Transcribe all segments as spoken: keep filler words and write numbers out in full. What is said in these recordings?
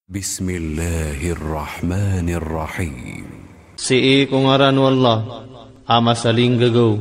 Bismillahirrahmanirrahim. Sii ko ngaran o Allah, a masalinggagaw,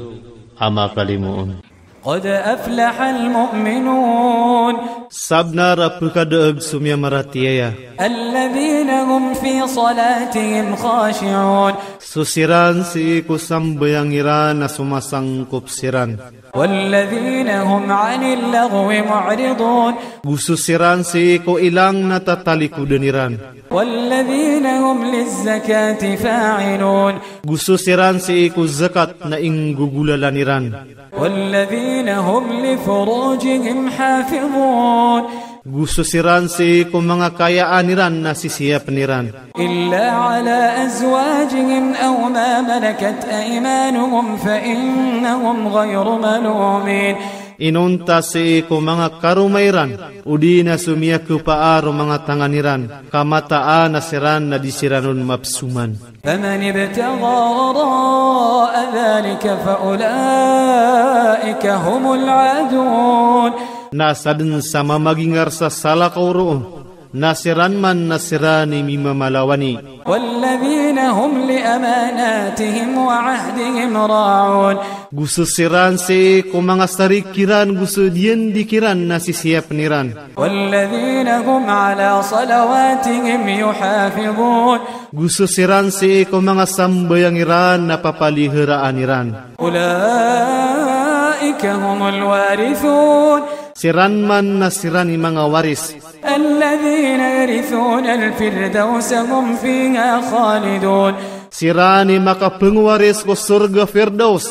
a makalimoon. Qad aflahal mu'minun. Sabnar a pkadaag so miyamaratiyaya. Alladhina hum fi salatihim khashi'un. So siran sii ko sambayang iran na somasangkop siran. Walladhina hum 'anil laghwi mu'ridun. Go so siran sii ko ilang na tatalikodan iran. Walladhina hum lizzakati fa'ilun. Go so siran sii ko zakat na inggogolalan iran. Walladhina hum li furujihim hafidhun. Go so siran sii ko manga kayaan iran na sisiyapn iran. Illa ala azwajihim aw ma malakat aymanuhum fa innahum ghayru malumin. Inonta sii ko manga karoma iran, odi na so miyakapaa ro manga tangan iran, ka mataan a siran na di siran on mapsoman. Faman ibtagha wara'a dhalika fa ulaika humul 'adun. Na sadn sa mamagingar sa salakaw roo, na siran man na siran i mimamalawani. Walladhina hum li amanatihim wa 'ahdihim ra'un. Go so siran sii ko manga sarik iran go so diyandi kiran na sisiyapn iran. Walladhina hum 'ala salawatihim yuhafidhun. Go so siran sii ko manga sambayang iran na papaliharaan iran. Ulaika humul warithun. Siran man na siran i manga waris. Alladhina yarithunal firdawsa hum fiha khalidun. Siran i makapngwaris ko sorga Firdaus,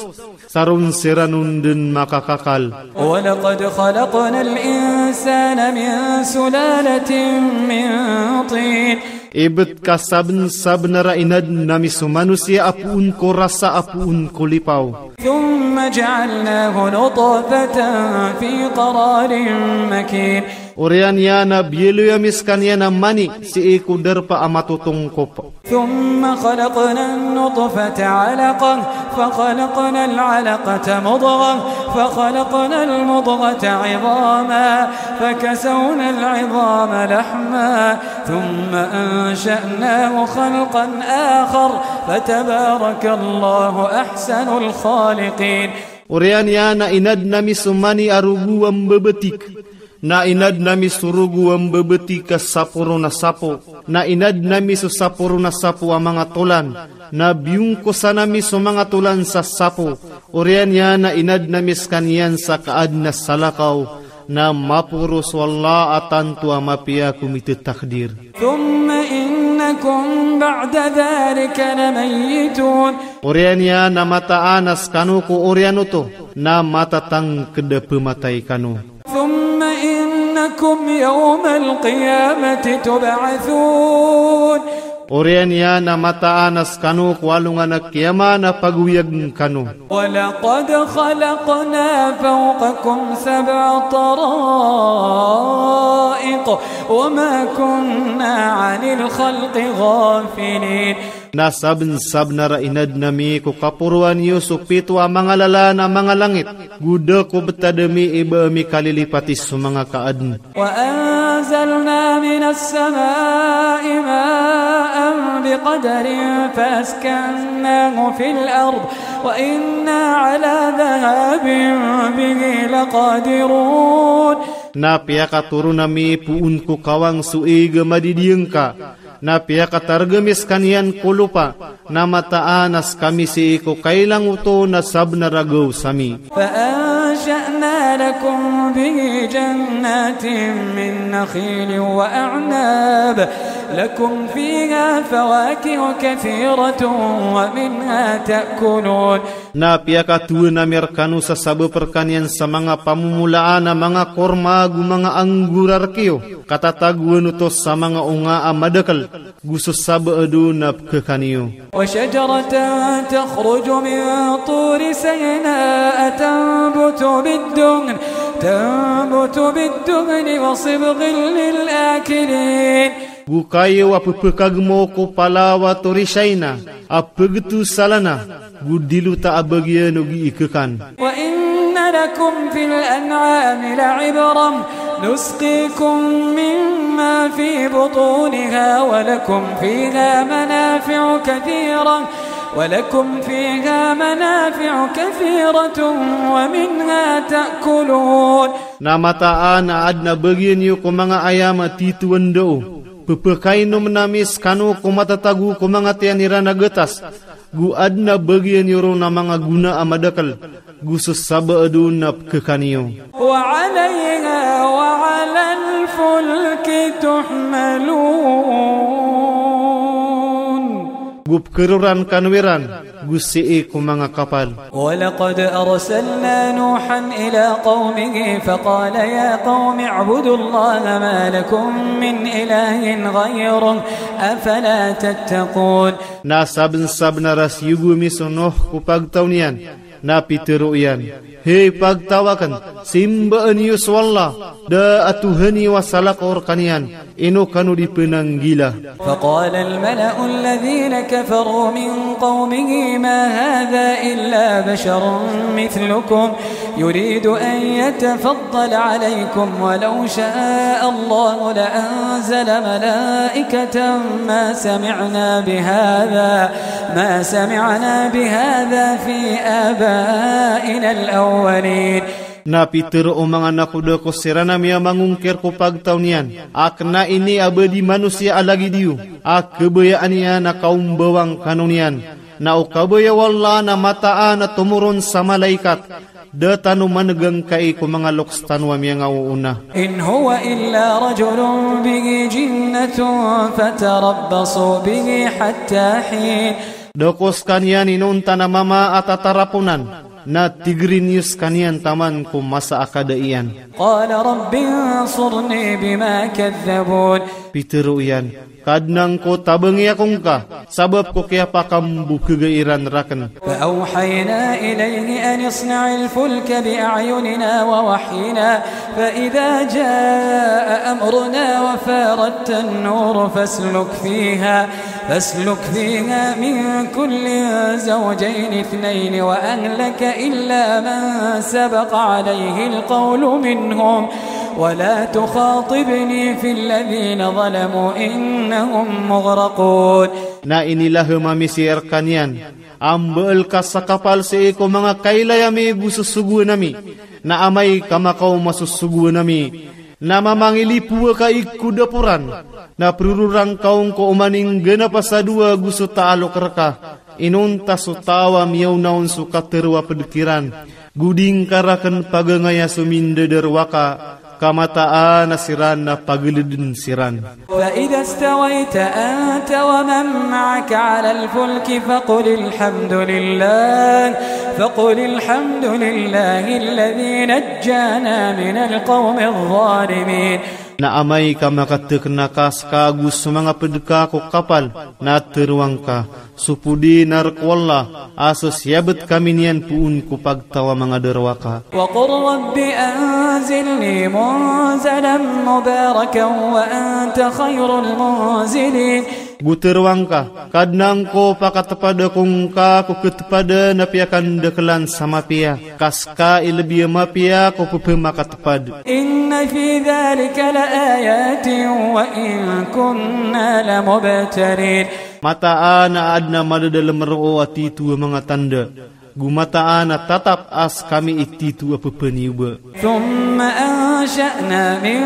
sa ron siran on dn makakakal. Wa laqad khalaqnal insana min sulalatin min tin. Ibt ka sabnsabnar a inadn ami so manosiya a poon ko rasa a poon ko lipaw. Thumma ja'alnahu nutfatan fi qararin makin. Oriyan iyan a biyaloy ami skaniyan a mani sii ko darpa a matotongkop. Thumma khalaqnan nutfata 'alaqah, fa khalaqnal 'alaqata mudghah, fa khalaqnal mudghata 'idhaman, fa kasawnal 'idhama lahma, thumma ansha'nahu khalqan akhar, fa tabarakallahu ahsanul khaliqin. Oriyan iyan a inadn ami so mani a rogo a mbabatik. Na inadn ami so rogo a mbabatik a sapo ron a sapo. Na inadn ami so sapo ron a sapo a manga tolan. Na biyongkosan ami so manga tolan sa sapo. Oriyan iyan a inadn ami skaniyan sa kaadn a salakaw. Na maporo so Allah a tanto a mapiya ko mitatakdir. Thumma innakum ba'da dhalika lamayyitun. Oriyan iyan a mataan a skano ko oriyan oto na matatangkd a pmatay kano. Thumma innakum yawmal qiyamati tub'athun. Oriyan iyan a mataan a skano ko alongan a kiyama na pagoyagn kano. Wa laqad khalaqna fawqakum sab'a tara'iq wa ma kunna 'anil khalqi ghafilin. Na sabnsabnar a inadn ami ko kaporoan iyo so pito a manga lalan a manga langit, go da ko btad ami i ba ami kalilipati so manga kaadn. Wa anzalna minas sama'i ma'an biqadarin fa askannahu fil ard wa inna 'ala dhahabin bihi laqadirun. Na piyakatoron ami poon ko kawang so ig a madidiyangka, na piyakatarg ami skaniyan ko lopa, na mataan a skami sii ko kailang oto na sabnar a gaos ami. Fa ansha'na lakum bihi jannatin min nakhilin wa a'nab, lakum fiha fawakihu kathiratun wa minha ta'kulun. Na piyakatowan ami rkano sa sabap rkaniyan sa manga pamomolaan a manga korma ago manga anggor a rk iyo, ka tatagoan oto sa manga onga a madakl, go so sabaad on a pkhakan iyo. Wa shajaratan takhruju min turi Sinaa tanbutu bid-duhn, tanbutu bid-duhni wa sibghin lil akilin. Go kayo a pphakagmo ko palaw a Turi Sina, a pagto sa lana, go dilota a bagian o gii khakan. Wa inna lakum fil an'ami la'ibrah, نسقيكم مما في بطونها ولكم فيها منافع كثيرة، ولكم فيها منافع كثيرة ومنها تأكلون. Na mataan a adn a bagian iyo ko manga ayam a titho a ndao, pphakainomn ami skano ko matatago ko manga tiyan iran a gatas, go adn a bagian iyo ron a manga gona a madakl, go so sabaad on na pkhakan iyo. وعليها وعلى الفلك تحملون. Go pkharoran kano iran go sii ko manga kapal. ولقد أرسلنا نوحا إلى قومه فقال يا قوم اعبدوا الله ما لكم من إله غيره أفلا تتقون. Na sabnsabnar a siyogo ami so Nuh ko pagtaw niyan, na pitharo iyan: Hay pagtaw akn, simbaan iyo so Allah, da a tohan iyo a salakaw rkaniyan, ino kano di pnanggila. فقال الملأ الذين كفروا من قومه ما هذا إلا بشر مثلكم يريد أن يتفضل عليكم ولو شاء الله لأنزل ملائكة ما سمعنا بهذا ما سمعنا بهذا في آبائنا الأولين. Na pitharo o manga nakoda ko siran a miyamangongkir ko pagtaw niyan a kna ini a ba di manosiya a lagid iyo a khabayaan iyan a kaombawang kano niyan. Na o kabaya o Allah na mataan a tomoron sa malaikat, da tano manegangkai ko manga loks tano a miyangaoona. إن هو إلا رجل به جنة فتربصوا به حتى حين. Da ko skaniyan inonta na mama a tataraponan, na tigri niyo skaniyan taman ko masa a kada iyan. قال رب انصرني بما كذبون. Pitharo iyan: Kadnan ko, tabangi ako ngka sabap ko kiyapakambokhega iran rakn. فأوحينا إليه أن اصنع الفلك بأعيننا ووحينا فإذا جاء أمرنا وفاردت النور فاسلك فيها فاسلك فيها من كل زوجين اثنين وأهلك إلا من سبق عليه القول منهم ولا تخاطبني في الذين ظلموا إنهم مغرقون. Na inilahem ami sii rkaniyan a mbaal ka sa kapal sii ko manga kailay ami go sosogoan ami. Na amay ka makaoma so sosogoan ami, na mamangilipowa ka i ko daporan, na prororan ka on ko oman i ngganap a sadowa go so taalok rka. Inonta so taw a miyaona on so katharo a pd kiran, go di ngka rakn pagangaya so mindadarowaka, ka mataan a siran na paglidn siran. فإذا استويت أنت ومن معك على الفلك فقل الحمد لله، فقل الحمد لله الذي نجانا من القوم الظالمين. Na amay ka makathkna ka ska go so manga pd ka ko kapal, na tharoa ngka: Sopodi na rk o Allah a so siyabt kami niyan poon ko pagtaw a manga darowaka. وقل رب أنزلني منزلا مباركا وأنت خير المنزلين. Go tharoa ngka: Kadnan ko, pakatpad ako ngka ko ktpad na piyakandaklan sa mapiya, ka ska i lbi a mapiya ko pphamakatpad. إن في ذلك لآيات وإن كنا لمبتلين. Mataan a adn a madadalm roo a titho a manga tanda, go mataan a tatap a skami i titho a pphanioba. ثم أنشأنا من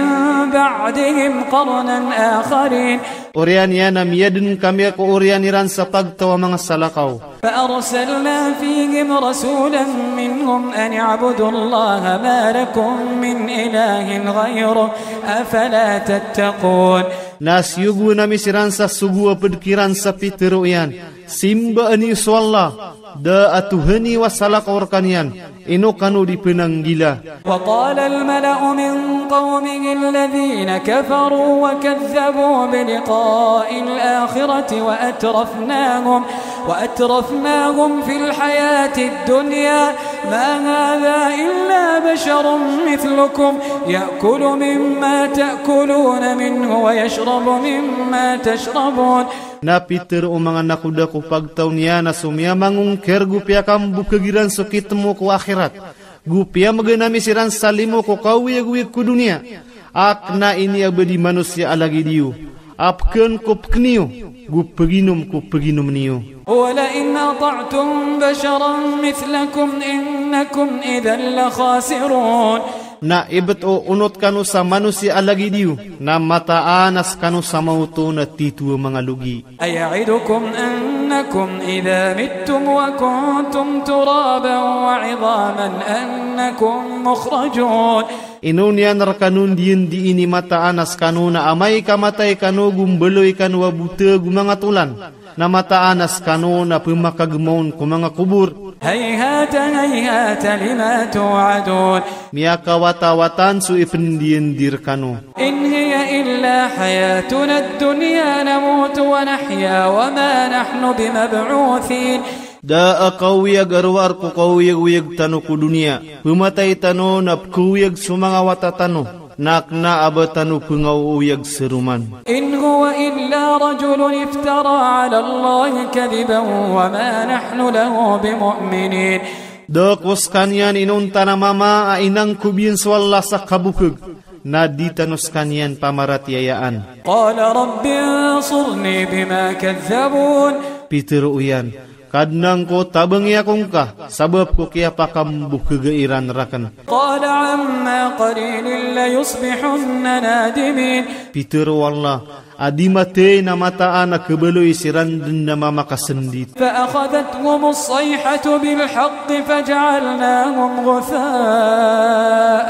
بعدهم قرنا آخرين. Oriyan iyan na miyadn kami ko oriyan iran sa pagtaw a manga salakaw. فأرسلنا فيهم رسولا منهم أن اعبدوا الله ما لكم من إله غيره أفلا تتقون. Na siyogoan ami siran sa sogo a pd kiran sa pitharo iyan: Simbaa niyo so Allah, da a tohan iyo a salakaw rkaniyan, ino kano di pnanggila. وقال الملأ من قومه الذين كفروا وكذبوا بلقاء الآخرة وأترفناهم، وأترفناهم في الحياة الدنيا ما هذا إلا بشر مثلكم يأكل مما تأكلون منه ويشرب مما تشربون. Na pitharo o manga nakoda ko pagtaw niyan a so miyamangongkir go piyakambokheg iran so kitmo ko akhirat, go piyamgn ami siran sa limo ko kaoyagoyag ko doniya, A kna ini a ba di manosiya a lagid iyo, a pkn ko pkn iyo, go pginom ko pginom niyo. ولئن أطعتم بشرا مثلكم إنكم إذا لخاسرون. Na ibt o onot kano sa manosiya a lagid iyo, na mataan a skano sa maoto na titho a manga logi. أيعدكم أنكم إذا متم وكنتم ترابا وعظاما أنكم مخرجون. Ino niyan rkano ndiyan di ini mataan a skano na amay ka matay kano go mbaloy kano a bota go manga tolan, na mataan a skano na pmakagmaon ko manga kobor. هيهات هيهات لما توعدون. Miyakawatawatan so ipndiyan di rkano. إن هي إلا حياتنا الدنيا نموت ونحيا وما نحن بمبعوثين. Da a kaoyag a rowar ko kaoyagoyag tano ko doniya. Pmatay tano na pkaoyag so manga wata tano. Na kna a ba tano pngaoyag saroman. إن هو إلا رجل افترى على الله كذبا وما نحن له بمؤمنين. Da ko skaniyan inonta na mama a inangkob iyan so Allah sa kabokg, na di tano skaniyan pamaratiyayaan. قال رب انصرني بما كذبون. Pitharo iyan, Kadnan ko, tabangi ako ngka, sabap ko kiyapakambokga iran rakn. قال عما قليل ليصبحن نادمين. Pitharo o Allah, a di mathay na mataan a khabaloy siran dn a mamakasndit. فأخذتهم الصيحة بالحق فجعلناهم غثاء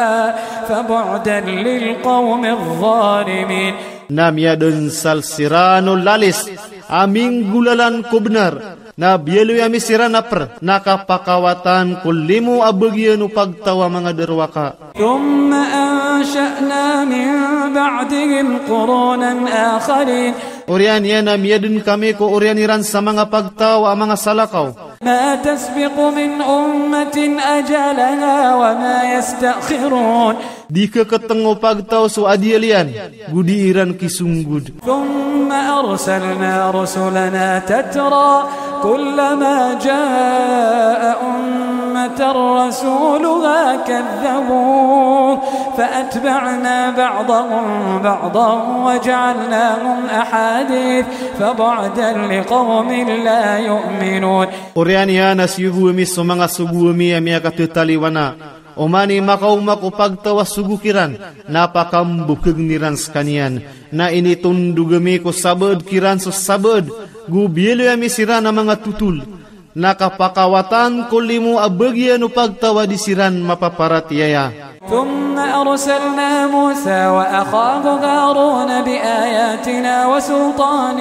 فبعدا للقوم الظالمين. Na miyadnsal siran o lalis a minggolalan ko bnar, na biyaloy ami siran a pr, na kapakawatan ko limo a bagian o pagtaw a manga darowaka. ثم أنشأنا من بعدهم قرونا آخرين. Oriyan iyan a miyadn kami ko oriyan iran sa manga pagtaw a manga salakaw. ما تسبق من أمة أجلها وما يستأخرون. Di khaktng o pagtaw so adiyal iyan, go di iran kisonggod. ثم أرسلنا رسلنا تترى كلما جاء أمة رسولها كذبوه فأتبعنا بعضهم بعضا وجعلناهم أحاديث فبعدا لقوم لا يؤمنون. Oriyan iyan a siyogo ami so manga sogo ami a miyakathataliwana. Oman i makaoma ko pagtaw a sogo kiran, na pakambokgn iran skaniyan. Na initondog ami ko sabaad kiran so sabaad, go biyaloy ami siran a manga totol. Na kapakawatan ko limo a bagian o pagtaw a di siran mapaparatiyaya. ثم أرسلنا موسى وأخاه هارون بآياتنا وسلطان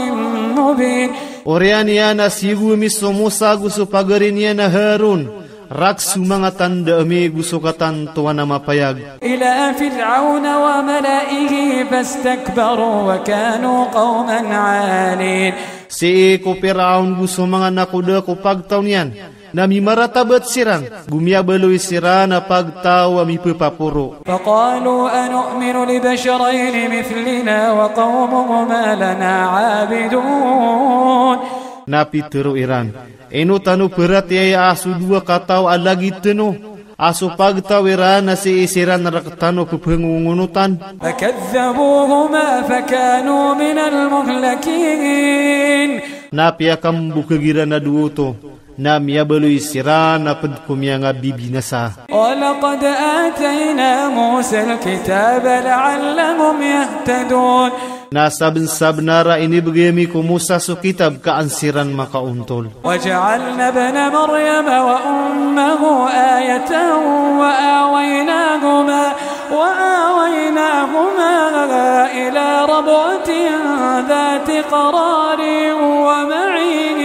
مبين. Oriyan iyan a siyogo ami so Musa go so pagari niyan a Harun, rakhs o manga tanda ami go so katantowan a mapayag. إلى فرعون وملئه فاستكبروا وكانوا قوما عالين. Sii ko Piraon go so manga nakoda ko pagtaw niyan, na mimaratabat siran, go miyabaloy siran a pagtaw a mipapaporo. فقالوا أنؤمن لبشرين مثلنا وقومهما لنا عابدون. Na pitharo iran, ino tano paratiyaya a so dowa kataw a lagid tano, a so pagtaw iran na sii siran rktano pphangongonotan. فكذبوهما فكانوا من المهلكين. Na piyakambokg iran a dowa oto, na miyabaloy siran a pd ko miyangabibinasa. ولقد آتينا موسى الكتاب لعلهم يهتدون. Na sabnsabnar a inibgay ami ko Musa so kitab ka an siran makaontol. وجعلنا ابن مريم وأمه آية وآويناهما، وآويناهما إلى ربوة ذات قرار ومعين.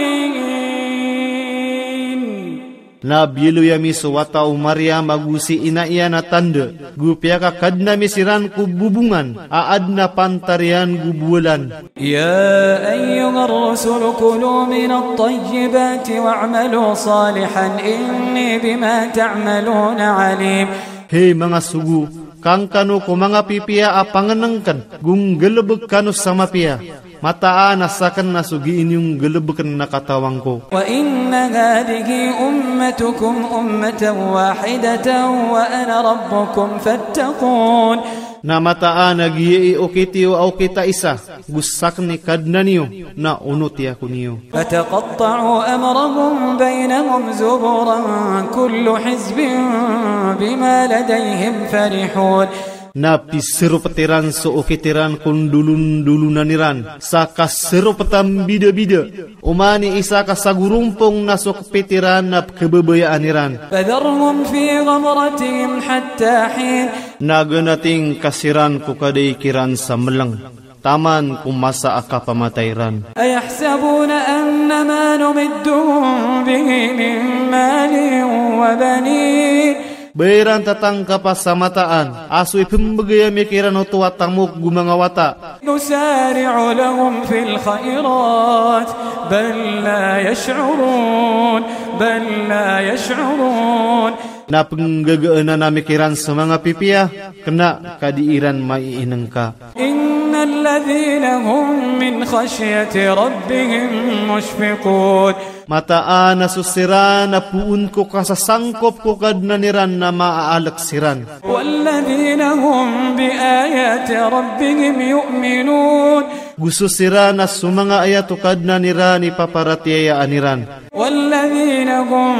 Na biyaloy ami so wata o Maryam ago si ina iyan a tanda, go piyakakadn ami siran ko bobongan a adn a pantar iyan go bowalan. يا أيها الرسل كلوا من الطيبات واعملوا صالحا إني بما تعملون عليم. Hay manga sogo, kangkano ko manga pipiya a pangnngkn, go nggalbk kano sa mapiya. Mataan a sakn na so gii niyo nggalbkn na katawan ko. وإن هذه أمتكم أمة واحدة وأنا ربكم فاتقون. Na mataan a giyai okit iyo a okit a isa, go sakn i Kadnan iyo, na onoti ako niyo. فتقطعوا أمرهم بينهم زبرا كل حزب بما لديهم فرحون. Na piseropet iran so okit iran ko ndolondolonan iran sa kaseropet a mbidabida. Oman i isa ka sagorompong na so kepit iran na pekebabayaan iran. فذرهم في غمرتهم حتى حين. Na ganating ka siran ko kadaik iran sa meleng, taman ko masa a kapamatay ran. أيحسبون أن ما نمدهم به من مال وبنين. Ba iran tatangkapa sa mataan a so ipembegay ami kiran oto a tamok go manga wata. نسارع لهم في الخيرات بل لا يشعرون بل لا يشعرون. Na penggagaanan ami kiran so manga pipiya, kena ka di iran maiinengka. إن الذين هم من خشية ربهم مشفقون. Mataan a so siran a poon ko kasasangkop ko Kadnan iran na maaalek siran. والذين هم بآيات ربهم يؤمنون. Go so siran a so manga ayat o Kadnan iran i paparatiyayaan iran. والذين هم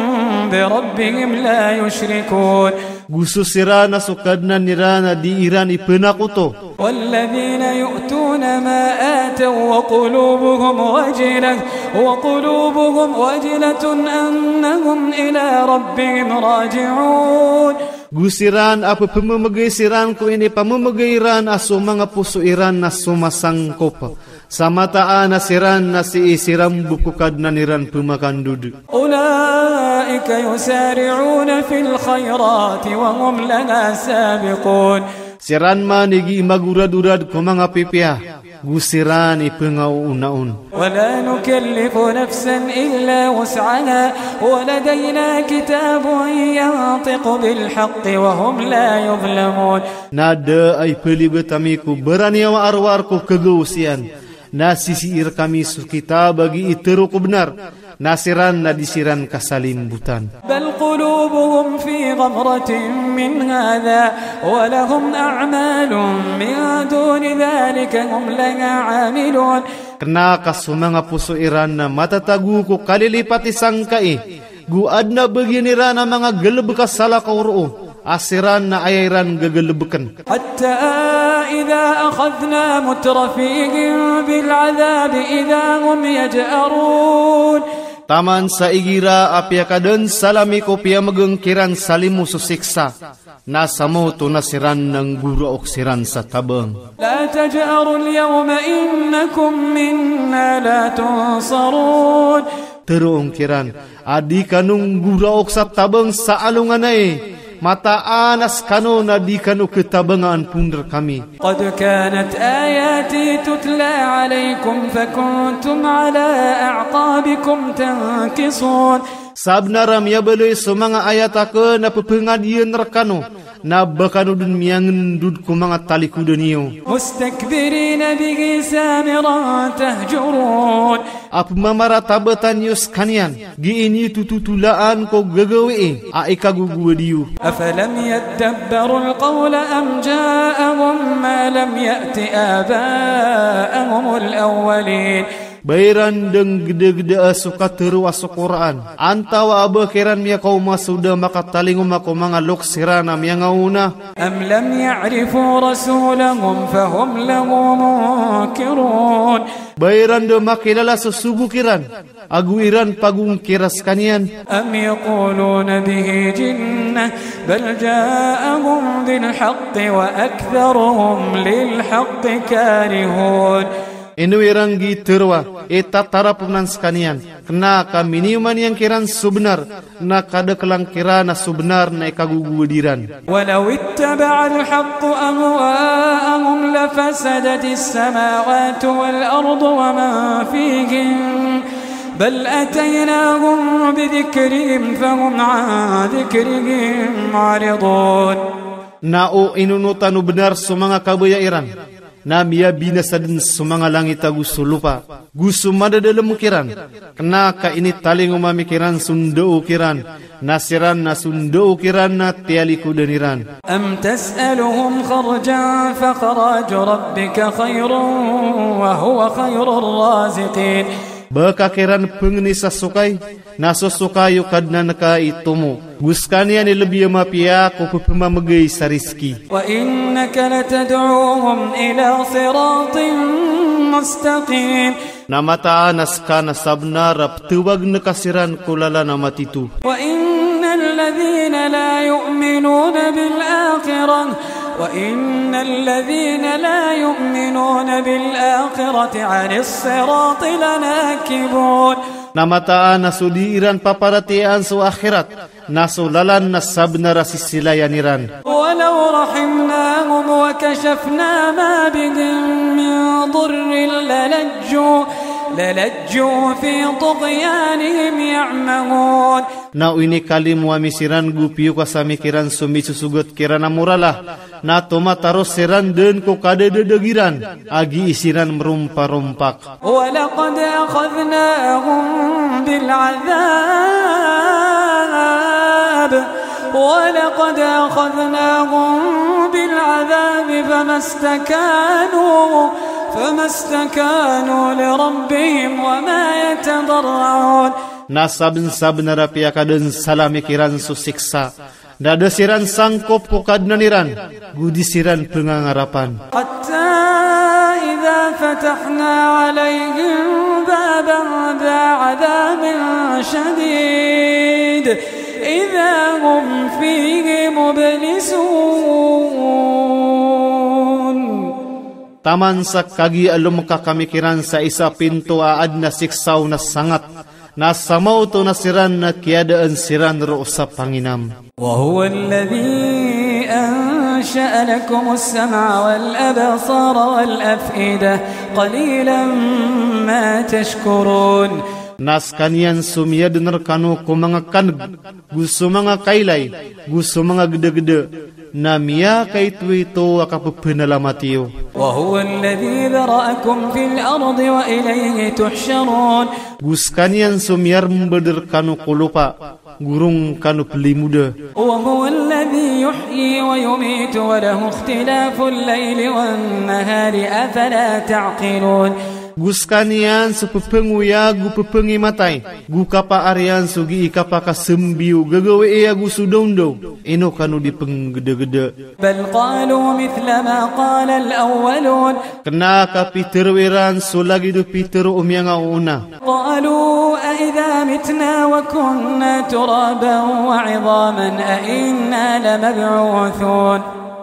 بربهم لا يشركون. Go so siran a so Kadnan iran a di iran ipenakoto. والذين يؤتون ما آتوا وقلوبهم وجلة وقلوبهم وجلة أنهم إلى ربهم راجعون. Go siran a pepememegay siran ko inipamemegay ran a so manga poso iran na somasangkop. Sa mataan a siran na sii siran bo ko Kadnan iran pemakandod. أولئك يسارعون في الخيرات وهم لها سابقون. Siran man i gii magoradorad ko manga pipiya, go siran i pengaoonaon. ولا نكلف نفسا إلا وسعها ولدينا كتاب ينطق بالحق وهم لا يظلمون. Na da a ipelibet ami ko baraniyawa a rowar ko kagaos iyan. Na sisii rekami so kitab a gii tero ko benar, na siran na di siran kasalimbotan. بل قلوبهم في غمرة من هذا ولهم أعمال من دون ذلك هم لها عاملون. Kena ka so manga poso iran na matatago ko kalilipati sangkai, go aden a bagian iran a manga galebek a salakaw roo, a siran na aya iran gegalebeken. حتى إذا أخذنا مترفيهم بالعذاب إذا هم يجأرون. Taman sa igira a piyakaden sa lami ko piyamegeng kiran sa limo so siksa, na samoto na siran na nggoraok siran sa tabang. لا تجأروا اليوم إنكم منا لا تنصرون. Teroon kiran a di kano nggoraok sa tabang sa alongan ai, mataan a sekano na di kano ketabangan pon rekami. قد كانت آياتي تتلى عليكم فكنتم على أعقابكم تنكصون. Sabenar a miyabaloy so manga ayat aken a pepengadiyen rekano, na ba kano den miyangendod ko manga talikoden iyo. مستكبرين به سامرا تهجرون. A pemamaratabetan iyo sekaniyan, gii niyo tototolaan ko gagawii a ikagogowad iyo. أفلم يدبروا القول أم جاءهم ما لم يأت آباءهم الأولين. Ba iran den gedegeda so katero a so Qur'an, antawa a ba kiran miyakaoma so da makatalingoma ko manga loks iran a miyangaona. أم لم يعرفوا رسولهم فهم له منكرون. Ba iran da makilala so sogo kiran, ago iran pagongkira sekaniyan. أم يقولون به جنة بل جاءهم بالحق وأكثرهم للحق كارهون. Ino iran gii teroa i tatarap onan sekaniyan, kena ka miniyoman iyan kiran so benar, na kadekelan kiran a so benar na ikagogowad iran. ولو اتبع الحق أهواءهم لفسدت السماوات والأرض ومن فيهن بل أتيناهم بذكرهم فهم عن ذكرهم معرضون. Na o inonotan o benar so manga kabaya iran, Na miyabinasa dn so manga langit ago so lopa, go so madadalm kiran. Kna ka initalingoma mi kiran so ndao kiran, na siran na so ndao kiran na tiyalikodan iran. أم تسألهم خرجا فخراج ربك خير وهو خير الرازقين. Ba ka kiran pngni sa sokay, na so sokay o Kadnan ka i tomo. Go skaniyan i lbi a mapiya ko pphamamgay sa rizki. وإنك لتدعوهم إلى صراط مستقيم. Na mataan a ska na sabnar a ptawagn ka siran ko lalan a matito. وإن الذين لا يؤمنون بالآخرة، وإن الذين لا يؤمنون بالآخرة عن الصراط لناكبون. Na mataan a so di iran paparatiyayaan so akhirat, na so lalan na sabnar a sisilayan iran. ولو رحمناهم وكشفنا ما بهم من ضر للجوا، للجوا في طغيانهم يعمهون. Na o inikalimo ami siran go piyokas ami kiran so misosogat kiran a morala, na tomataros siran dn ko kadadadg iran, a gii siran mromparompak. ولقد أخذناهم بالعذاب، ولقد أخذناهم بالعذاب فما استكانوا، فما استكانوا لربهم وما يتضرعون. Na sabnsabnar a piyakadnsala ami kiran so siksa, na da siran sangkop ko Kadnan iran, go di siran pngangarapan. حتى إذا فتحنا عليهم بابا ذا عذاب شديد إذا هم فيه مبلسون. Taman sa kagiya a lomkak ami kiran sa isa a pinto a adn a siksa on a sangat, na samaoto na siran na kiyadaan siran roo sa panginam. وهو الذي أنشأ لكم السمع والأبصار والأفئدة قليلا ما تشكرون. Na skaniyan so miyadn rkano ko manga kan'g, go so manga kailay, go so manga gdagda, na miyakaitoito a kapphanalamati iyo. وهو الذي ذرأكم في الأرض وإليه تحشرون. Go skaniyan so miyarmbd rkano ko lopa, go ron kano plimoda. وهو الذي يحيي ويميت وله اختلاف الليل والنهار أفلا تعقلون. Go skaniyan so pphangoyag go pphangimatay, go kapaar iyan so gii kapakasambi o gagawii ago so daondaw, ino kano di pnggdagda. بل قالوا مثل ما قال الأولون. Kna ka pitharo iran so lagid o pitharo o miyangaoona. قالوا أإذا متنا وكنا ترابا وعظاما أإنا لمبعوثون.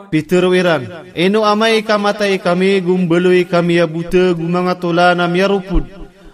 Pitharo iran, ino amay ka matay kami go mbaloy kami a bota go manga tolan a miyaropod,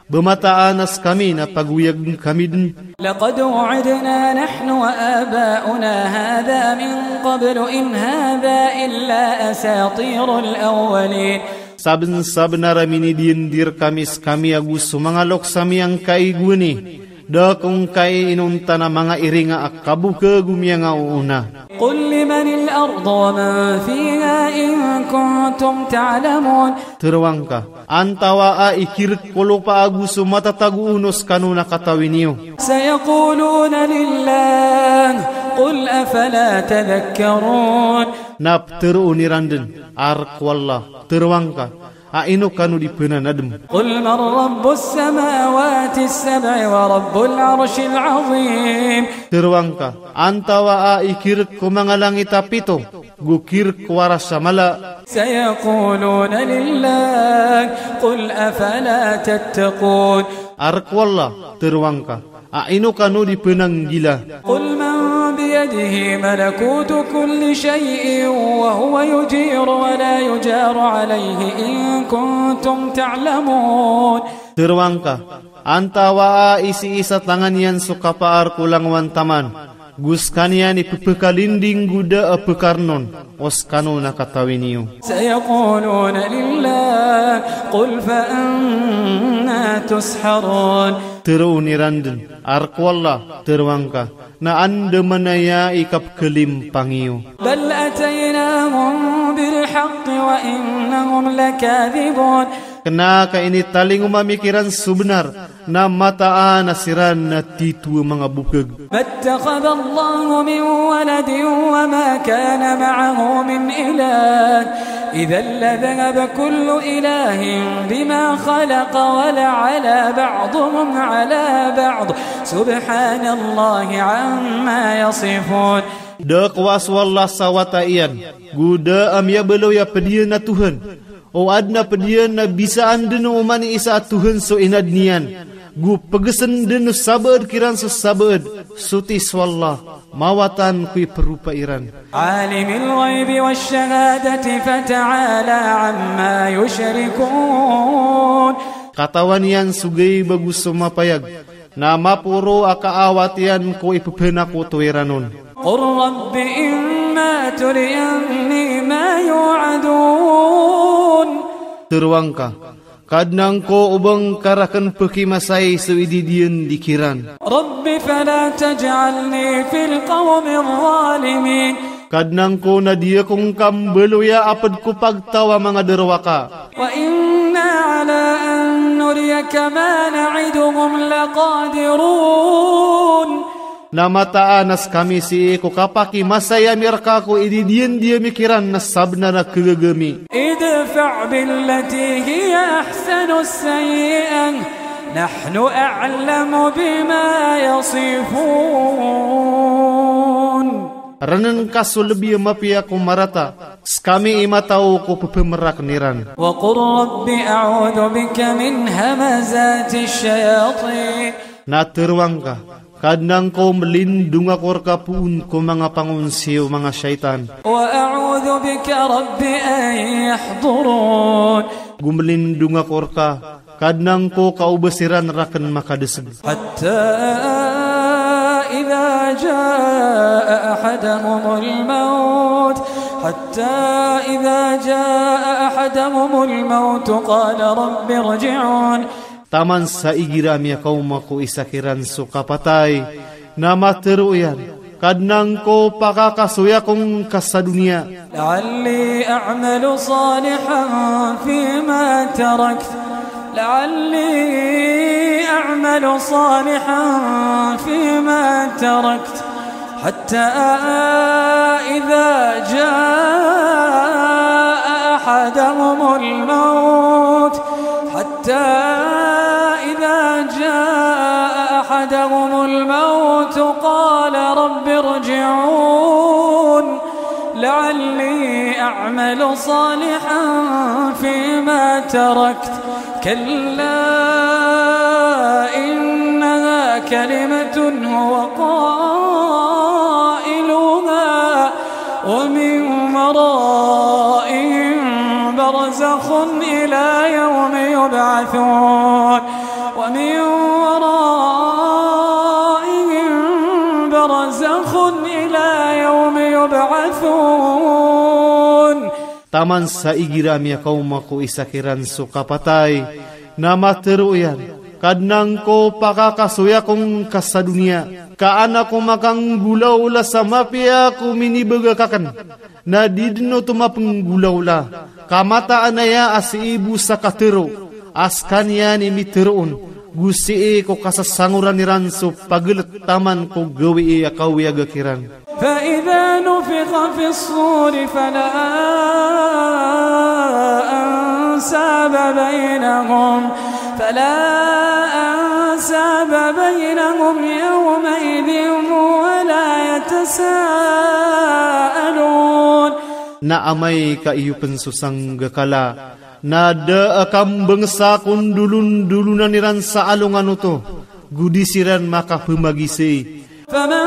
ba mataan a skami na pagoyagn kami dn. لقد وعدنا نحن وآباؤنا هذا من قبل إن هذا إلا أساطير الأولين. Sabnsabnar a minidiyandi rkami skami ago so manga loks ami angkai gowani, da ko ngkai inonta na manga iringa a kabok ago miyangaoona. قل لمن الأرض ومن فيها إن كنتم تعلمون. Tharoa ngka, antawaa i kirk ko lopa ago so matatago on o skano na katawi niyo. سيقولون لله قل أفلا تذكرون. Na ptharoon iran dn, a rk o Allah. Tharoa ngka, a ino kano di pnanadm. قل من رب السماوات السبع ورب العرش العظيم. Tharoa ngka, antawaa i kirk ko manga langit a pito, go kirk ko aras a mala. سيقولون لله قل أفلا تتقون. A rk o Allah, tharoa ngka, a ino kano di pnanggila. قل من بيده ملكوت كل شيء وهو يجير ولا يجار عليه إن كنتم تعلمون. Tharoa ngka, antawaa i sii sa tangan iyan so kapaar ko langowan taman, go skaniyan i pphakalinding go da a pkarn on, o skano na katawi niyo. سيقولون لله قل فأنى تسحرون. Tharoon iran dn, a rk o Allah, tharoa ngka, na anda man aya i kapkhalimpang iyo. بل أتيناهم بالحق الحق وإنهم لكاذبون. Kna ka initalingoma mi kiran so bnar, na mataan a siran na titho a manga bokg. ما اتخذ الله من ولد وما كان معه من إله إذا لذهب كل إله بما خلق ولعلا بعضهم على بعض سبحان الله عما يصفون. Da kowa so Allah sa wata iyan, go da a miyabaloy a pd iyan a Tohan, o adn a pd iyan a bisaan dn o oman i isa a Tohan so inadn iyan, go pgsn dn o sabaad kiran so sabaad, soti so Allah, mawatan ko ipropa iran. عالم الغيب والشهادة فتعالى عما يشركون. Katawan iyan so gayb ago so mapayag, na maporo a kaawat iyan ko ipphanakoto iran on. قل رب إما تريني ما يوعدون. Tharoa ngka, Kadnan ko, o ba ngka rakn pkimasai so ididiyandi kiran. رب فلا تجعلني في القوم الظالمين. Kadnan ko, na di ako ngka mbaloya a pd ko pagtaw a manga darowaka. وإنا على أن نريك ما نعدهم لقادرون. Na mataan a skami sii ko kapakimasai ami rka ko ididiyandi ami kiran na sabnar a khagaga mi. ادفع بالتي هي أحسن السيئة نحن أعلم بما يصفون. Rnn ka so lbi a mapiya ko marata, skami i mataw ko pphamrakn iran. وقل رب أعوذ بك من همزات الشياطين. Na tharoa ngka, Kadnan ko, mlindong ako rka poon ko manga pangonsi o manga shaytan. وأعوذ بك رب أن يحضرون. Go mlindong ako rka, Kadnan ko, ka o ba siran rakn makadasg. حتى إذا جاء أحدهم الموت، حتى إذا جاء أحدهم الموت قال رب ارجعون. Taman sa igira miyakaoma ko isa kiran so kapatay, na matharo iyan, Kadnan ko, pakakasoy ako ngka sa doniya. لعلي أعمل صالحا فيما تركت، لعلي أعمل صالحا فيما تركت، حتى إذا جاء أحدهم الموت، حتى إذا جاء أحدهم الموت قال رب ارجعون لعلي أعمل صالحا فيما تركت، كلا إنها كلمة هو قائلها ومن ورائهم برزخ إلى يوم يبعثون، ومن ورائهم برزخ إلى يوم يبعثون. Taman sa igira miyakaoma ko isa kiran so kapatay, na matharo iyan, Kadnan ko, pakakasoy ako ngka sa doniya, ka an ako makanggolawla sa mapiya ko minibaga ka akn. Na di dn oto mapenggolawla, ka mataan aya a sii bo sa katharo a skaniyan i mitharo on, go sii ko kasasangoran iran so pagelet taman ko gawii a kawiyaga kiran. فإذا نفخ في الصور فلا أنساب بينهم، فلا أنساب بينهم يومئذ ولا يتساءلون. Na amay ka iyo pn so sanggakala, na da a kambangsa ko ndolondolonan iran sa alongan oto, go di siran makapemagisai. فمن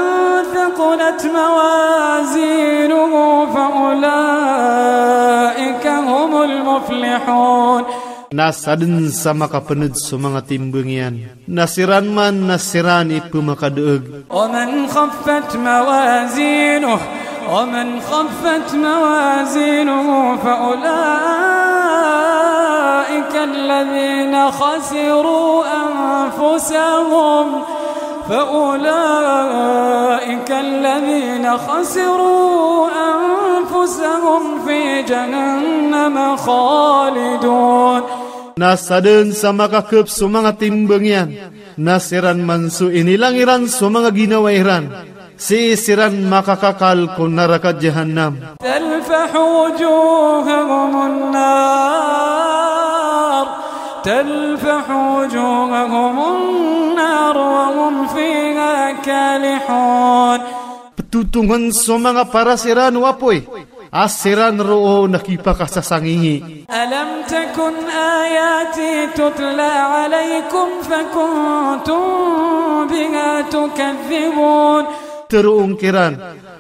ثقلت موازينه فأولئك هم المفلحون. Na sadn sa makapnd so manga timbang iyan, na siran man na siran i pmakadaag. ومن خفت موازينه، ومن خفت موازينه فأولئك الذين خسروا أنفسهم، فأولئك الذين خسروا أنفسهم في جهنم خالدون. Na sadn sa makakp so manga timbang iyan, na siran man so inilang iran so manga ginawa iran, sii siran makakakal ko naraka Jahannam. تلفح وجوههم النار، تلفح وجوههم النار وهم فيها كالحون. Ptotongn so manga paras iran o apoy, a siran roo na kipakasasangihi. ألم تكن آياتي تتلى عليكم فكنتم بها تكذبون. Tharoon kiran,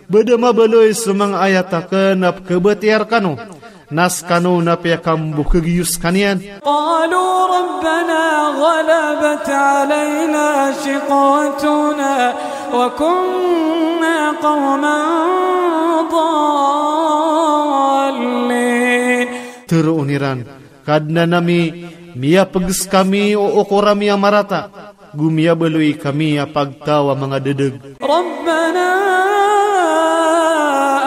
ba da mabaloy so manga ayat akn a pkhabatiyaa rkano, na skano na piyakambokhag iyo skaniyan. قالوا ربنا غلبت علينا شقوتنا وكنا قوما ضالين. Tharoon iran, Kadnan ami, miyapgs kami o okor ami a marata, go miyabaloy kami a pagtaw a manga ddag. ربنا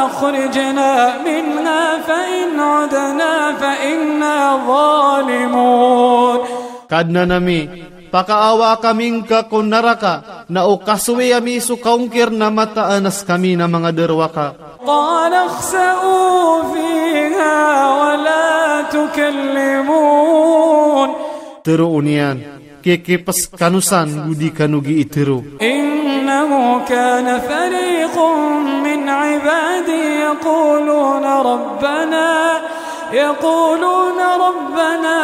أخرجنا منها فإن عدنا فإنا ظالمون. Kadnan ami, pakaawa kami ngka ko naraka, na o kasowi ami so kaongkir na mataan a skami na manga darowaka. قال اخسئوا فيها ولا تكلمون. Tharoon iyan, kikips kano san go di kano gii tharo. إنه كان فريق من عبادي يقولون ربنا، يقولون ربنا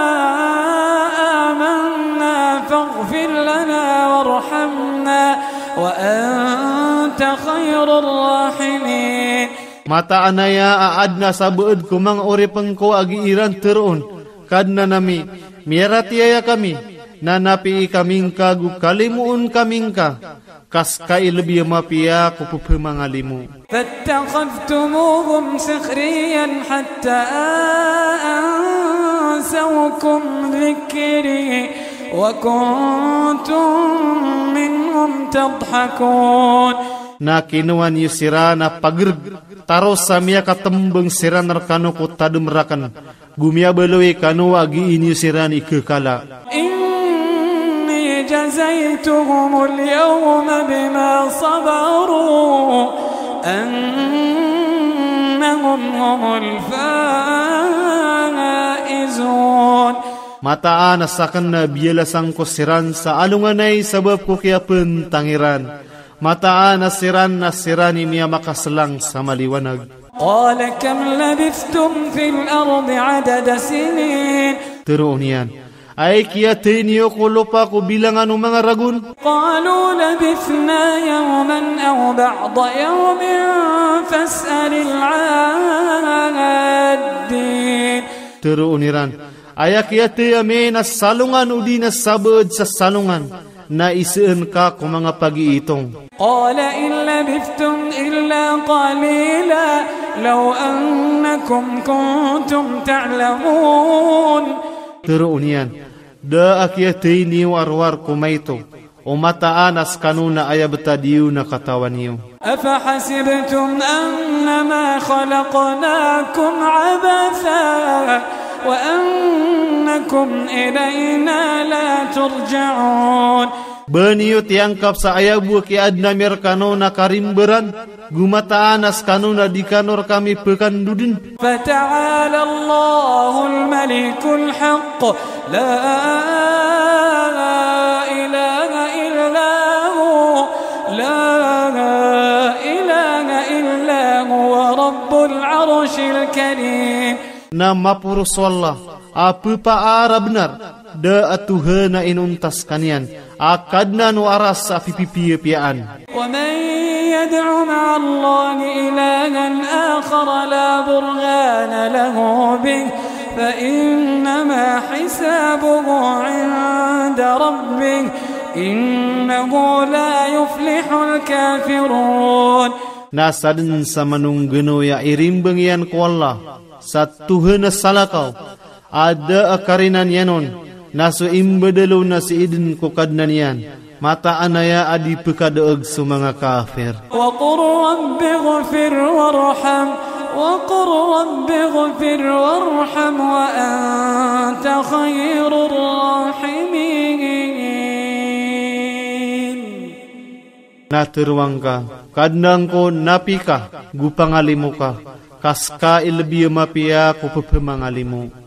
آمنا فاغفر لنا وارحمنا وأنت خير الراحمين. Mataan aya a adn a sabaad ko manga oripn ko a gii ran tharoon, Kadnan ami, miyaratiyaya kami, na napii kami ngka go kalimoon kami ngka, ka ska i lbi a mapiya ko pphamangalimo. فاتخذتموهم سخريا حتى أنسوكم ذكري وكنتم منهم تضحكون. Na kinowa niyo siran a pagrg, taros sa miyakatmbang siran rkano ko tadm rakn, go miyabaloy kano a gii niyo siran ikakala. إني جزيتهم اليوم بما صبروا أنهم هم الفائزون. Mataan a sakn na biyalasan ko siran sa alonganay sabap ko kiyapntang iran. Mataan a siran na siran i miyamakaslang sa maliwanag. قال كم لبثتم في الأرض عدد سنين. Tharoon iyan, aya kiyathay niyo ko lopa ko bilangan o manga ragon? قالوا لبثنا يوما أو بعض يوم فاسأل العادين. Tharoon iran, aya kiyathay ami na salongan odi na sabaad sa salongan, na isaan ka ko manga pagiitong. قال إن لبثتم إلا قليلا لو أنكم كنتم تعلمون. Tharoon iyan, da a kiyathay niyo a rowar ko maito, o mataan a skano na aya btad iyo na katawan iyo. أفحسبتم أنما خلقناكم عبثا وأنكم إلينا لا ترجعون. Ba niyo tiyangkap sa aya bo a kiyaadn ami rkano na karimbaran, go mataan a skano na di kano rkami pkandodn. فتعالى الله الملك الحق لا إله إلا هو، لا إله إلا هو رب العرش الكريم. Na maporos o Allah a ppaar a bnar, da a Tohan a inonta skaniyan, a Kadnan o Aras a pipipiyapiyaan. ومن يدع مع الله إلها آخر لا برهان له به فإنما حسابه عند ربه إنه لا يفلح الكافرون. Na sadn sa manongganoy a irimbang iyan ko Allah sa tohan a salakaw a da a karina niyan on, na so imbadal on na sii dn ko Kadnan iyan, Mataan aya a di pkadaeg so manga kafir. وقل رب اغفر وارحم، وقل رب اغفر وارحم وأنت خير الراحمين. Na tharoang ka, Kadnan ko, napi ka, go pangalimo ka, ka ska i lbi a mapiya ko pphamangalimo.